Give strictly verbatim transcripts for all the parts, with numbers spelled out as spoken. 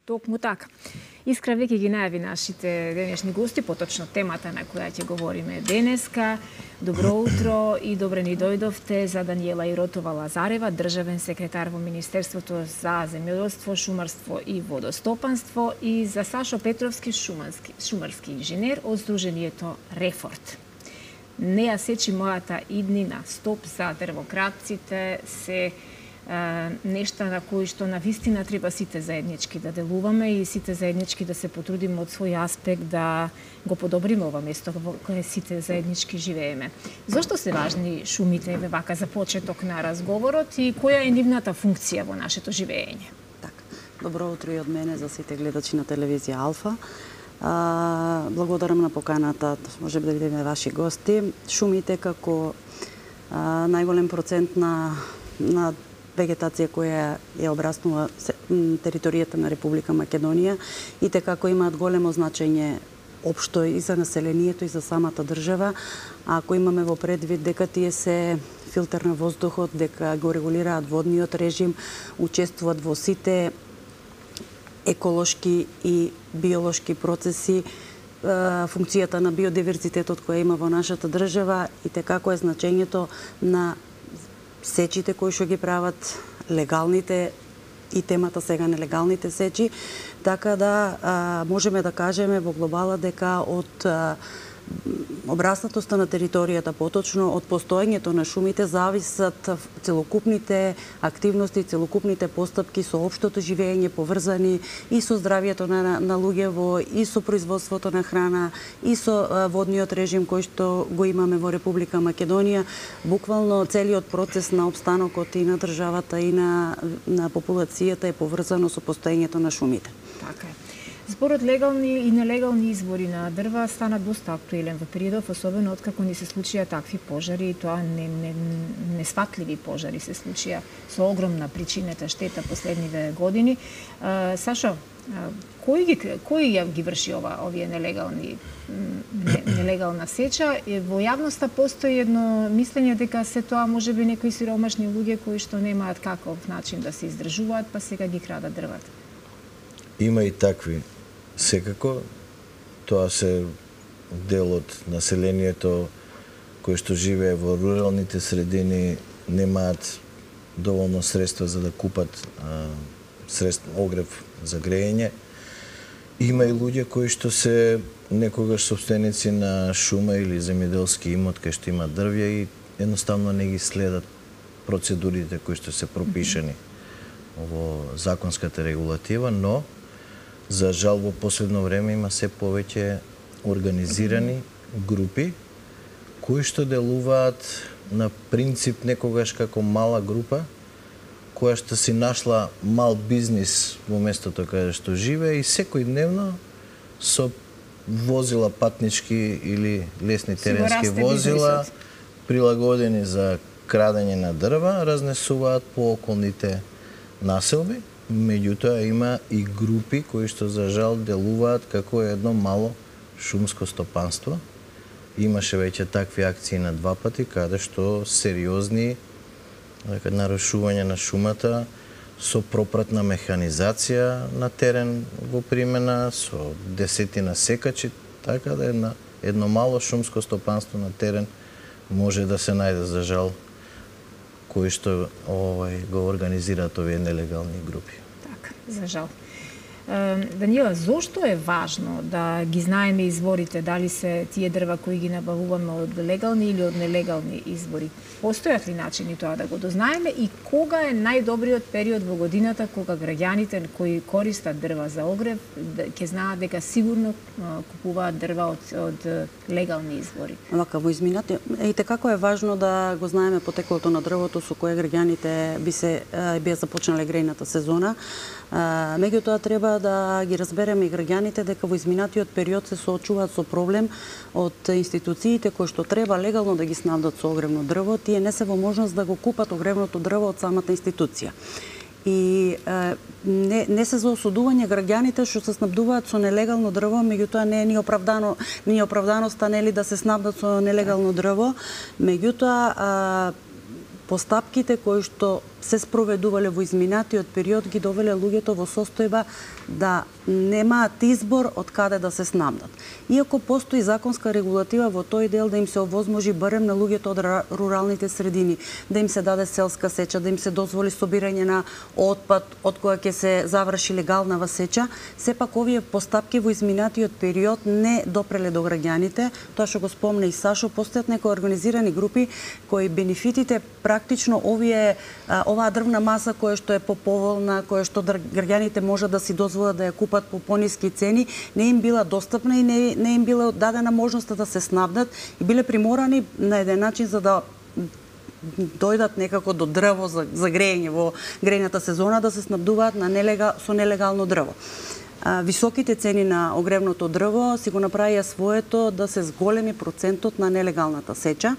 Токму така. Искра веќе ги најави нашите денешни гости, поточно темата на која ќе говориме денеска. Добро утро и добре ни дојдовте за Даниела Иротова Лазарева, државен секретар во Министерството за земјоделство, шумарство и водостопанство, и за Сашо Петровски, шумарски, шумарски инженер од Сдруженијето Рефорт. Не ја сечи мојата иднина, стоп за дрвократците се нешта на кои што на вистина треба сите заеднички да делуваме и сите заеднички да се потрудиме од свој аспект да го подобриме ова место во кое сите заеднички живееме. Зошто се важни шумите, еве вака за почеток на разговорот, и која е нивната функција во нашето живеење? Така. Добро утро и од мене за сите гледачи на телевизија Алфа. А, благодарам на поканата, може би да бидеме ваши гости. Шумите како а, најголем процент на на вегетација која ја обраснува територијата на Република Македонија и те како имаат големо значење општо и за населението и за самата држава. А ако имаме во предвид дека тие се филтер на воздухот, дека го регулираат водниот режим, учествуваат во сите еколошки и биолошки процеси, функцијата на биодиверзитетот која има во нашата држава и те како е значењето на сечите кои што ги прават, легалните и темата сега нелегалните сечи, така да а, можеме да кажеме во глобала дека од а, обраснатоста на територијата, поточно од постоењето на шумите, зависат целокупните активности, целокупните постапки со општото живење, поврзани и со здравието на, на луѓево, и со производството на храна, и со а, водниот режим кој што го имаме во Република Македонија. Буквално целиот процес на обстанокот и на државата и на, на популацијата е поврзано со постоењето на шумите. Така е. Зборот легални и нелегални избори на дрва стана доста актуелен во периодов, особено откако ни се случија такви пожари, и тоа не, не, несфатливи пожари се случија со огромна причинета штета последниве години. А, Сашо, а, кој ги кој ја ги врши ова овие нелегални не, нелегална сеча? Во јавноста постои едно мислење дека се тоа можеби некои сиромашни луѓе кои што немаат каков начин да се издржуваат, па сега ги крадат дрвата. Има и такви. Секако, тоа се дел од населението кој што живее во руралните средини, немаат доволно средства за да купат а, средства, огрев за грејење. Има и луѓе кои што се некогаш собственици на шума или земјоделски имот кај што има дрвја и едноставно не ги следат процедурите кои што се пропишани во законската регулатива, но за жал во последно време има се повеќе организирани групи кои што делуваат на принцип некогаш како мала група која што си нашла мал бизнис во местото каде што живее и секојдневно со возила патнички или лесни теренски возила прилагодени за крадење на дрва разнесуваат по околните населби. Меѓутоа има и групи кои што за жал делуваат како едно мало шумско стопанство. Имаше веќе такви акции на два пати каде што сериозни нарушување на шумата со пропратна механизација на терен во примена, со десетина секачи, така да една, едно мало шумско стопанство на терен може да се најде за жал кои што овај го организираат овие нелегални групи. Така, за жал. Даниела, зошто е важно да ги знаеме изворите, дали се тие дрва кои ги набавуваме од легални или од нелегални извори? Постојат ли начини тоа да го дознаеме и кога е најдобриот период во годината кога граѓаните кои користат дрва за огрев ќе знаат дека сигурно купуваат дрва од, од легални извори? Вака во изминати, и како е важно да го знаеме потеклото на дрвото со кое граѓаните би се би започнале грејната сезона. Меѓутоа треба да ги разбереме и граѓаните дека во изминатиот период се соочуваат со проблем од институциите кои што треба легално да ги снабдат со огревно дрво, тие не се во можност да го купат огревното дрво од самата институција. И е, не, не се за осудување граѓаните што се снабдуваат со нелегално дрво, меѓутоа не е ни оправдано, ни оправданоста нели да се снабдат со нелегално дрво, меѓутоа постапките кои што се спроведувале во изминатиот период ги довеле луѓето во состојба да немаат избор од каде да се снабдат. Иако постои законска регулатива во тој дел да им се овозможи барем на луѓето од руралните средини, да им се даде селска сеча, да им се дозволи собирање на отпад од која ќе се заврши легалнава сеча, сепак овие постапки во изминатиот период не допреле до граѓаните. Тоа што го спомна и Сашо, постојат некои организирани групи кои бенефитите практично овие оваа дрвна маса која што е поповолна, која што граѓаните можат да си дозволат да ја купат по пониски цени, не им била достапна и не, не им била дадена можност да се снабдат и биле приморани на еден начин за да дојдат некако до дрво за, за грејење во грејната сезона, да се снабдуваат на нелегал, со нелегално дрво. А, високите цени на огревното дрво си го направија своето да се зголеми процентот на нелегалната сеча.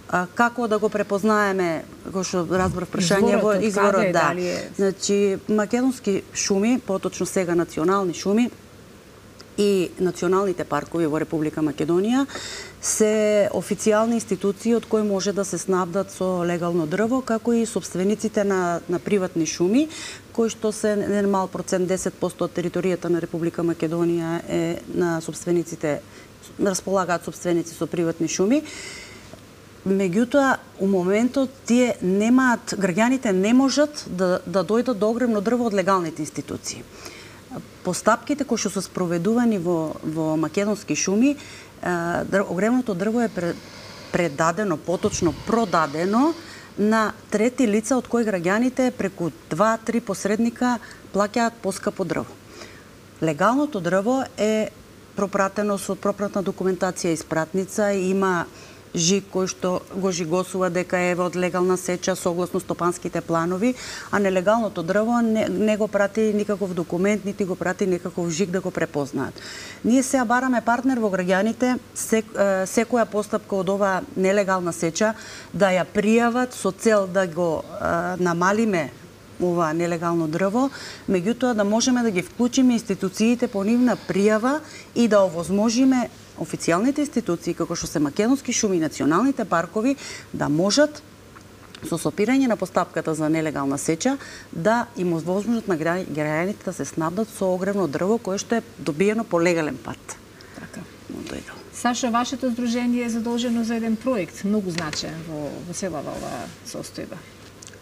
А, како да го препознаеме, како што разбрав прашање во изворот, да. Е... Значи, македонски шуми, поточно сега национални шуми и националните паркови во Република Македонија се официјални институции од кои може да се снабдат со легално дрво, како и собствениците на, на приватни шуми, кои што се не мал процент, десет проценти од територијата на Република Македонија е на собствениците, располагаат собственици со приватни шуми. Меѓутоа, у моментот тие немаат, граѓаните не можат да, да дојдат до огревно дрво од легалните институции. Постапките кои што се спроведувани во, во македонски шуми, огревното дрво е предадено, поточно продадено на трети лица од кои граѓаните преку два-три посредника плаќаат поскапо дрво. Легалното дрво е пропратено со пропратна документација и спратница, има жиг кој што го жигосува дека е од легална сеча согласно стопанските планови, а нелегалното дрво не, не го прати никаков документ, нити го прати никаков жиг да го препознаат. Ние сега бараме партнер во граѓаните, сек, секоја постапка од оваа нелегална сеча да ја пријават со цел да го е, намалиме ова нелегално дрво, меѓутоа да можеме да ги вклучиме институциите по нивна пријава и да овозможиме официјалните институции, како што се македонски шуми и националните паркови, да можат со сопирање на постапката за нелегална сеча да им овозможат на граѓаните да се снабдат со огревно дрво кое што е добиено по легален пат. Така. Сашо, вашето здружение е задолжено за еден проект, многу значаен во, во целава оваа состојба.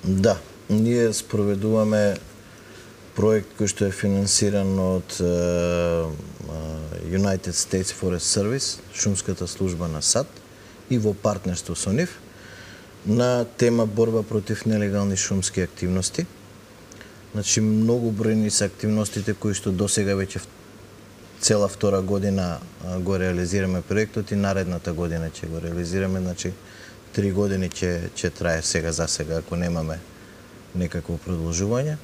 Да, ние спроведуваме проект кој што е финансиран од uh, United States Forest Service, шумската служба на САД, и во партнерство со нив на тема борба против нелегални шумски активности. Значи, многу бројни се активностите кои што досега веќе цела втора година го реализираме проектот и наредната година ќе го реализираме, значи три години ќе ќе трае сега за сега ако немаме некакво продолжување.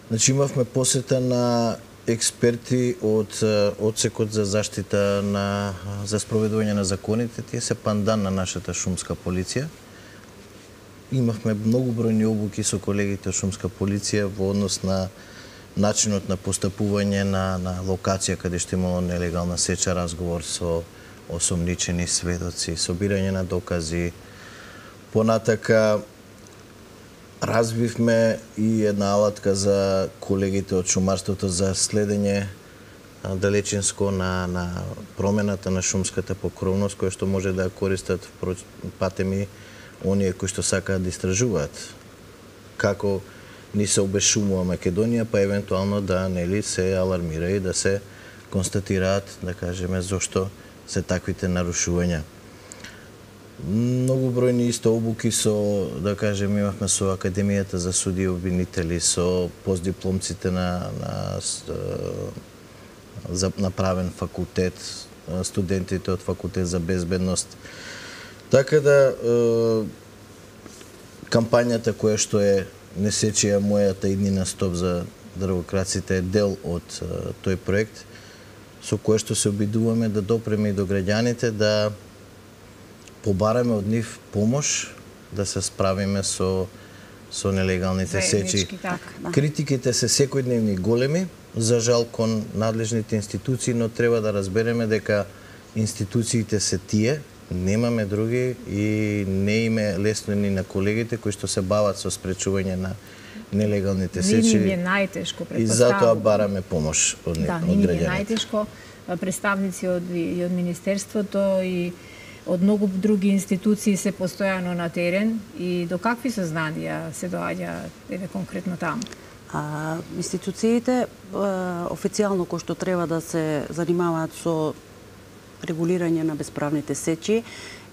Значи, имавме посета на експерти од одсекот за заштита на за спроведување на законите, тие се пандан на нашата шумска полиција. Имавме многу бројни обуки со колегите од шумска полиција во однос на начинот на постапување на на локација каде што имало нелегална сеча, разговор со осомничени сведоци, собирање на докази. Понатака развивме и една алатка за колегите од шумарството за следење далечинско на, на промената на шумската покровност, која што може да користат патеми оние кои што сакаат да истражуваат. Како ни се обешумува Македонија, па евентуално да нели се алармира и да се констатираат, да кажеме, зошто се таквите нарушувања. Многу бројни исто обуки со, да кажем, имавме со Академијата за суди и обвинители, со постдипломците на, на за направен факултет, студентите од факултет за безбедност. Така да кампањата која што е Не сечија мојата иднина стоп за дрвокраците е дел од тој проект со кој што се обидуваме да допреме и до граѓаните, да побараме од нив помош да се справиме со со нелегалните сечи. Критиките се секојдневни големи, за жал кон надлежните институции, но треба да разбереме дека институциите се тие Немаме други и не име лесно ни на колегите кои што се бават со спречување на нелегалните сечи. Нини е најтешко, и затоа бараме помош од, да, од нини граѓаните. е најтешко. Представници од, и од Министерството и од многу други институции се постојано на терен и до какви сознанија се доаѓа еве конкретно таму? А, институциите а, официјално кои што треба да се занимаваат со регулирање на безправните сечи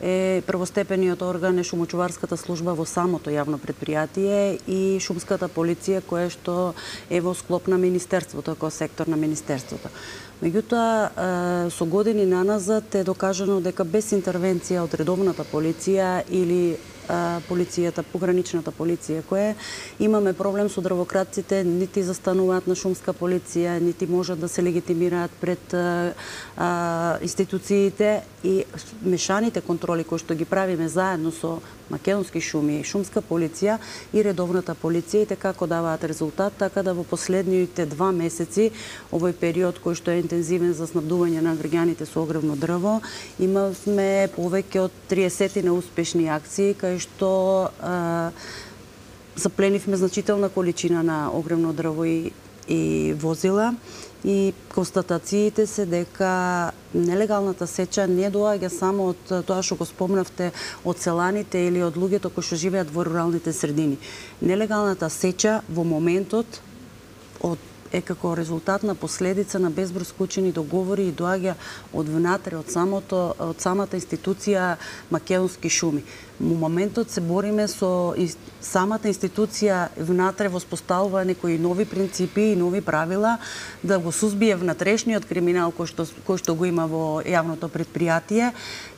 е првостепениот орган е шумочуварската служба во самото јавно предпријатие и шумската полиција која што е во склоп на Министерството, како сектор на Министерството. Меѓутоа, со години наназад е докажано дека без интервенција од редовната полиција или полицијата, пограничната полиција, која имаме проблем со дрвократците, нити застануваат на шумска полиција, нити можат да се легитимираат пред а, а, институциите и мешаните контроли кои што ги правиме заедно со Македонски шуми, шумска полиција и редовната полиција, и како даваат резултат, така да во последните два месеци, овој период кој што е интензивен за снабдување на граѓаните со огревно дрво, имавме повеќе од триесет успешни акции, кај што а, запленивме значителна количина на огревно дрво и, и возила, и констатациите се дека нелегалната сеча не доаѓа само од тоа што го спомнавте од селаните или од луѓето кои што живеат во руралните средини. Нелегалната сеча во моментот од е како резултат на последица на безброј склучени договори и доаѓа од внатре, од самото од самата институција Македонски шуми. Во моментот се бориме со самата институција внатре во споставува некои нови принципи и нови правила да го сузбие внатрешниот криминал кој што кој што го има во јавното предпријатие.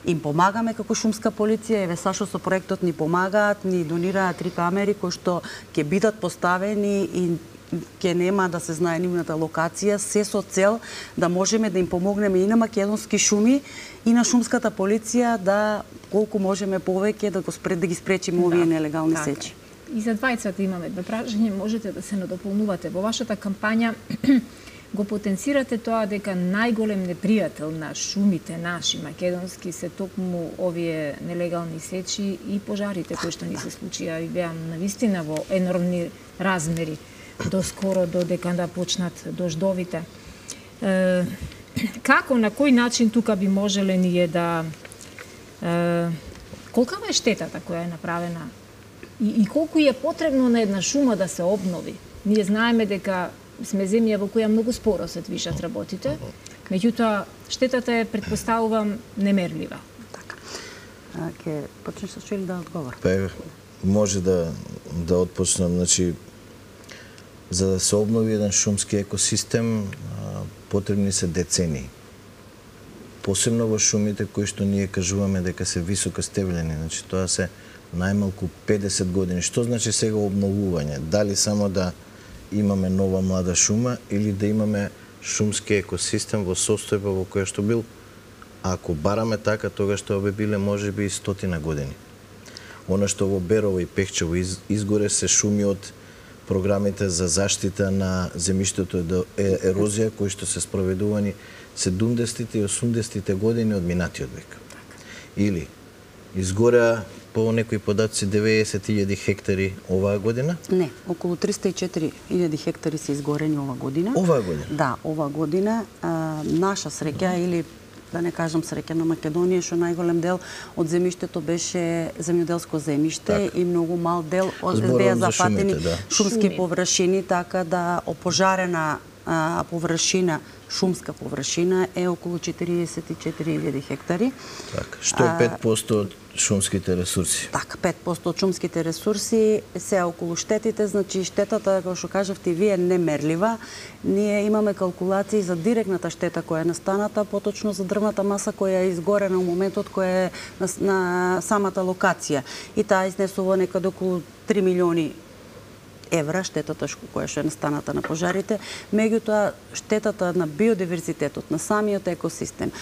Им помагаме како шумска полиција, еве Сашо со проектот ни помагаат, ни донираат три камери кои што ќе бидат поставени и ќе нема да се знае нивната локација, се со цел да можеме да им помогнеме и на Македонски шуми и на шумската полиција да колку можеме повеќе да го спред да ги спречиме овие да, нелегални така. Сечи. И за двајцата имаме две прашања, можете да се надополнувате. Во вашата кампања го потенцирате тоа дека најголем непријател на шумите наши македонски се токму овие нелегални сечи и пожарите кои што ни се случија и беа навистина во енормни размери до скоро додека да почнат дождовите. Е, како, на кој начин тука би можеле ние да... Е, колкава е штетата која е направена и, и колку е потребно на една шума да се обнови? Ние знаеме дека сме земја во која многу споро се движат работите, меѓутоа штетата е, предпоставувам, немерлива. Така. А, ке почнеш со Чили да одговор? Па, може да, да отпочнам, значи, за да се обнови еден шумски екосистем, потребни се децении. Посебно во шумите кои што ние кажуваме дека се високостебелени, значи тоа се најмалку педесет години. Што значи сега обновување? Дали само да имаме нова млада шума или да имаме шумски екосистем во состојба во која што бил? Ако бараме така, тогаш тоа би биле можеби и стотина години. Она што во Берово и Пехчево изгоре се шуми од програмите за заштита на земјиштето од ерозија кои што се спроведувани седумдесетите и осумдесетите години од минатиот век. Или изгореа по некои податци деветдесет илјади хектари оваа година? Не, околу триста и четири илјади хектари се изгорени ова година. Оваа година? Да, оваа година. А, наша среќа или да не кажам среќа на Македонија, што најголем дел од земјиштето беше земјоделско земјиште так. И многу мал дел од беа зафатени да. Шумски Шуми. Површини, така да опожарена а, површина, шумска површина е околу четириесет и четири илјади хектари. Так, што е пет проценти од шумските ресурси? Така, пет проценти од шумските ресурси се околу штетите, значи штетата, како што кажавте вие, немерлива. Ние имаме калкулации за директната штета која е настаната, поточно за дрвната маса која е изгорена во моментот која е на, на самата локација. И таа изнесува некаде околу три милиони евра штетата која што е настаната на пожарите, меѓутоа штетата на биодиверзитетот, на самиот екосистем,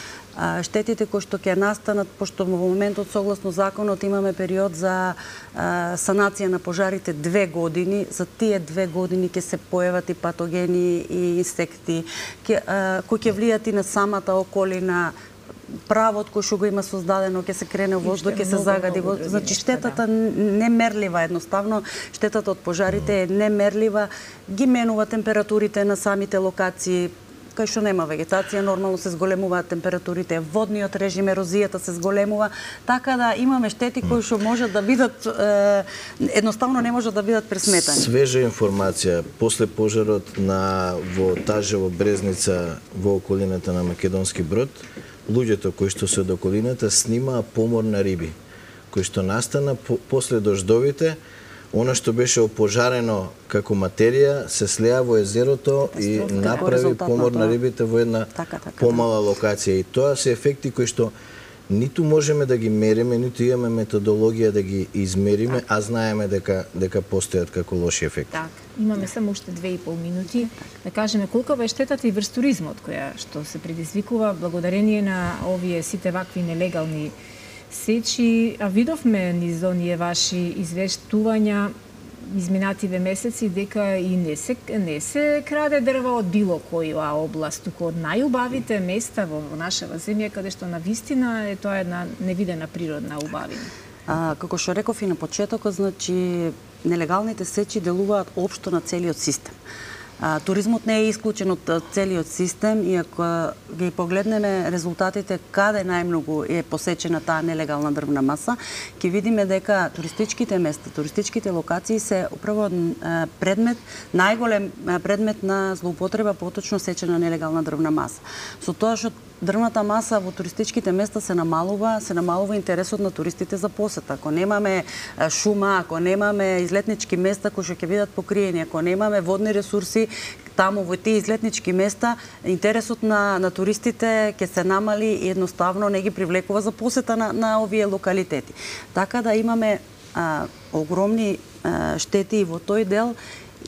штетите кои што ќе настанат, пошто во моментот согласно законот имаме период за санација на пожарите две години, за тие две години ќе се појават и патогени и инсекти, кои ќе влијат и на самата околина, правот кој што го има создадено, ќе се крене во воздух, ќе се загади. Значи штетата немерлива едноставно, штетата од пожарите е немерлива, ги менува температурите на самите локации, кај што нема вегетација, нормално се зголемуваат температурите, водниот режим, ерозијата се зголемува, така да имаме штети кои што можат да бидат е, едноставно не можат да бидат пресметани. Свежа информација, после пожарот на во Тажево Брезница во околината на Македонски Брод, луѓето кои што се од околината снимаа помор на риби, кои што настана по, после дождовите. Она што беше опожарено како материја се слеа во езерото и направи помор на рибите во една така, така, помала локација. И тоа се ефекти кои што ниту можеме да ги мериме, ниту имаме методологија да ги измериме, а знаеме дека дека постојат како лоши ефекти. Так, имаме само уште две и пол минути да кажеме колку е штетата и врз туризмот која што се предизвикува благодарение на овие сите вакви нелегални сечи, а видовме низ оние ваши извештувања изминативе месеци дека и не се, не се краде дрва од било која област, туку од најубавите места во нашава земја, каде што на вистина е тоа една невидена природна убавина. А, како што реков и на почетокот, значи нелегалните сечи делуваат општо на целиот систем. А, туризмот не е исклучен од целиот систем и ако ги погледнеме резултатите каде најмногу е посечена таа нелегална дрвна маса, ќе видиме дека туристичките места, туристичките локации се управо предмет, најголем предмет на злоупотреба поточно сечена нелегална дрвна маса. Со тоа што дрвната маса во туристичките места се намалува, се намалува интересот на туристите за посета. Ако немаме шума, ако немаме излетнички места кои што ќе бидат покриени, ако немаме водни ресурси, таму во тие излетнички места, интересот на, на туристите ќе се намали и едноставно не ги привлекува за посета на, на овие локалитети. Така да имаме а, огромни а, штети и во тој дел,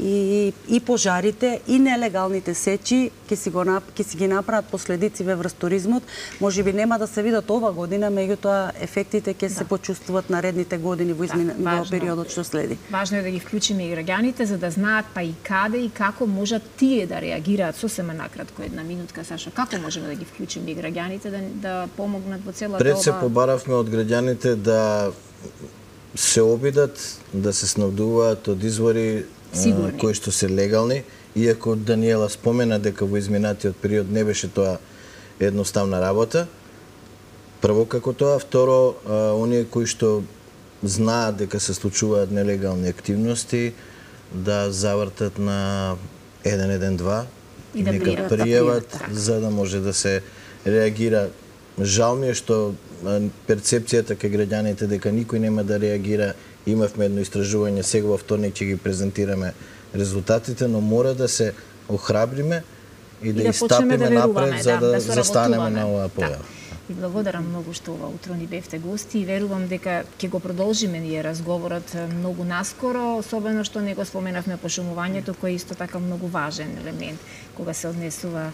и, и пожарите, и нелегалните сечи ќе си, го, ќе си ги направат последици врз туризмот. Може би нема да се видат ова година, меѓутоа ефектите ќе да. се почувствуват наредните години во, измин... да, во периодот што следи. Важно е да ги вклучиме и граѓаните за да знаат па и каде и како можат тие да реагираат. Сосема накратко една минутка, Сашо, како можеме да ги вклучиме и граѓаните да, да помогнат во целата Пред ова... се побаравме од граѓаните да се обидат, да се снабдуваат од извори Сигурни. кои што се легални, иако Даниела спомена дека во изминатиот период не беше тоа едноставна работа. Прво како тоа, второ, оние кои што знаат дека се случуваат нелегални активности, да завртат на еден еден два и да нека пријават, за да може да се реагира. Жал ми е што перцепцијата кај граѓаните дека никој нема да реагира. Имавме едно истражување, сега во вторник ќе ги презентираме резултатите, но мора да се охрабриме и да, и да истапиме да напред, да, за да, да застанеме на оваа појава. Да. И благодарам многу што ова утро ни бевте гости и верувам дека ќе го продолжиме ние разговорот многу наскоро, особено што не го споменавме пошумувањето, кој е исто така многу важен елемент кога се однесува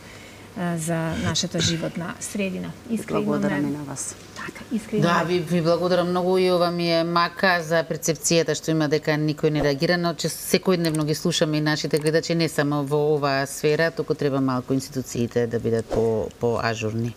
за нашата животна средина. Искрено благодарам и на вас. Така, искрено. Да, ви, ви благодарам многу и ова ми е мака за перцепцијата што има дека никој не реагира, но че секојдневно ги слушаме и нашите гледачи не само во оваа сфера, туку треба малку институциите да бидат по по ажурни.